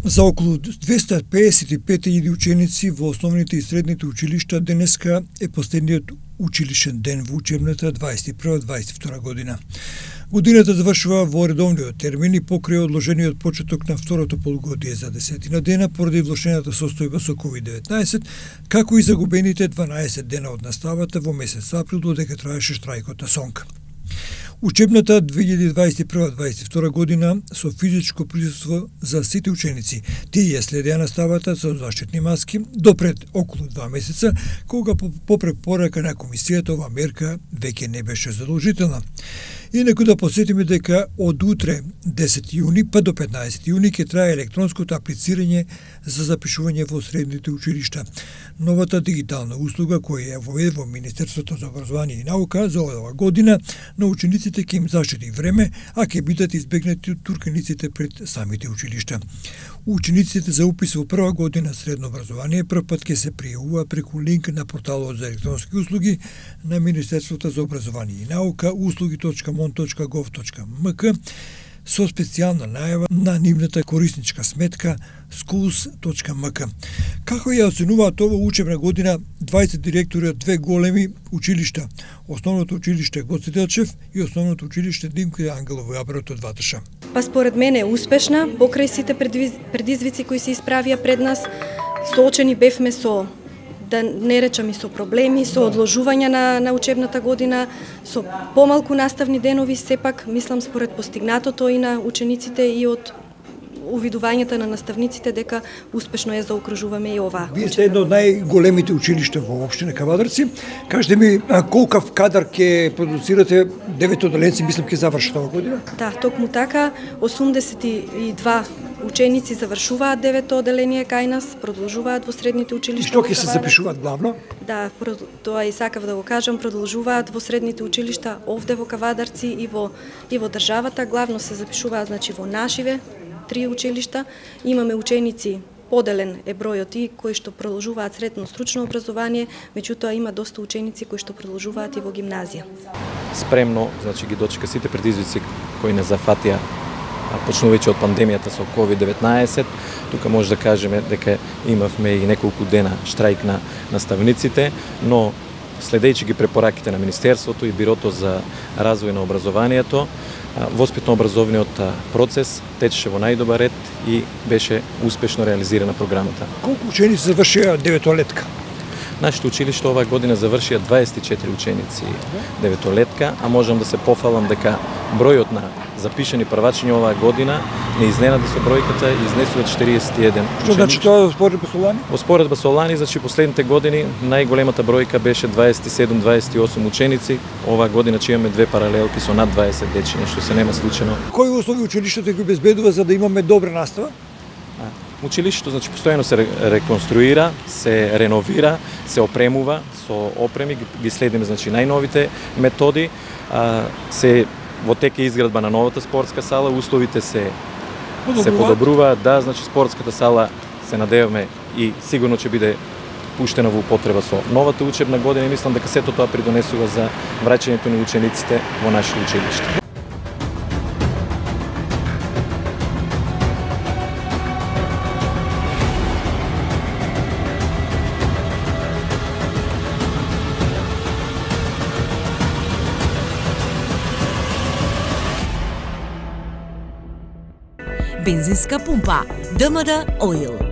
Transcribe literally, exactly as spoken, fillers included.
За околу двеста педесет и пет илјади ученици во основните и средните училишта денеска е последниот училишен ден во учебната дваесет и прва дваесет и втора година. Годината завршува во редовниот термин и покрај одложениот почеток на второто полугодие за десетина дена поради влошената состојба со ковид деветнаесет, како и загубените дванаесет дена од наставата во месец април додека траеше штрајкот на СОНК. Учебната две илјади дваесет и прва дваесет и втора година со физичко присуство за сите ученици. Тие ја следеа наставата со заштитни маски допред околу два месеца, кога по препорака на комисијата ова мерка веќе не беше задолжителна. Инаку да посетиме дека од утре десети јуни па до петнаесети јуни ќе трае електронското аплицирање за запишување во средните училишта. Новата дигитална услуга која ја воведе во Министерството за образование и наука за оваа година на учениците ќе им заштеди време, а ќе бидат избегнати турканиците пред самите училишта. Учениците за упис во прва година средно образование прв пат ќе се пријавуваат преку линк на порталот за електронски услуги на Министерството за образование и наука услуги точка мон точка гов точка мк со специјална најава на нивната корисничка сметка schools точка мк. Како ја оценуваат ова учебна година дваесет директори од две големи училишта, Основното училиште Гоце Делчев и Основното училиште Димка Ангелово Јаброто од Ваташа? Па според мене е успешна, покрај сите предизвици кои се исправија пред нас, соочени бевме со, да не речам и со проблеми, со одложување на, на учебната година, со помалку наставни денови, сепак мислам според постигнатото и на учениците и од увидувањата на наставниците дека успешно ја заокружуваме и ова. Вие сте едно од најголемите училишта во општина Кавадарци. Кажете ми колкав кадар ќе продуцирате, девет оделенци мислам ќе завршат оваа година? Да, токму така, осумдесет и два ученици завршуваат девето оделение кај нас, продолжуваат во средните училишта. И што ќе се запишуваат главно? Да, тоа и сакав да го кажам, продолжуваат во средните училишта овде во Кавадарци и во и во државата, главно се запишуваат значи во нашиве три училишта. Имаме ученици, поделен е бројот и кои што продолжуваат средно стручно образование, меѓутоа има доста ученици кои што продолжуваат и во гимназија. Спремно, значи ги дочека сите предизвици кои не зафатија почнувајќи од пандемијата со ковид деветнаесет. Тука може да кажеме дека имавме и неколку дена штрајк на наставниците, но следејќи ги препораките на Министерството и Бирото за развој на образованието, воспитно-образовниот процес течеше во најдобар ред и беше успешно реализирана програмата. Колку ученици завршија деветолетка? Нашето училиште оваа година завршија дваесет и четири ученици деветолетка, а можам да се пофалам дека бројот на запишани првачиња оваа година не изненади со бројката и изнесува четириесет и еден ученици. Што значи тоа во споредба со лани? Во споредба со лани, значи последните години најголемата бројка беше дваесет и седум дваесет и осум ученици. Оваа година ќе имаме две паралелки со над дваесет дечиња, што се нема случајно. Кои услови училиштето ги обезбедува за да имаме добра настава? Училиштето значи постојано се реконструира, се реновира, се опремува со опреми, ги следиме значи најновите методи, а, се во тек е изградба на новата спортска сала, условите се подобруваат. се подобруваат, да, значи спортската сала се надеваме и сигурно ќе биде пуштена во употреба со новата учебна година и мислам дека сето тоа придонесува за враќањето на учениците во нашето училиште. Бензинска пумпа ДМД Oil.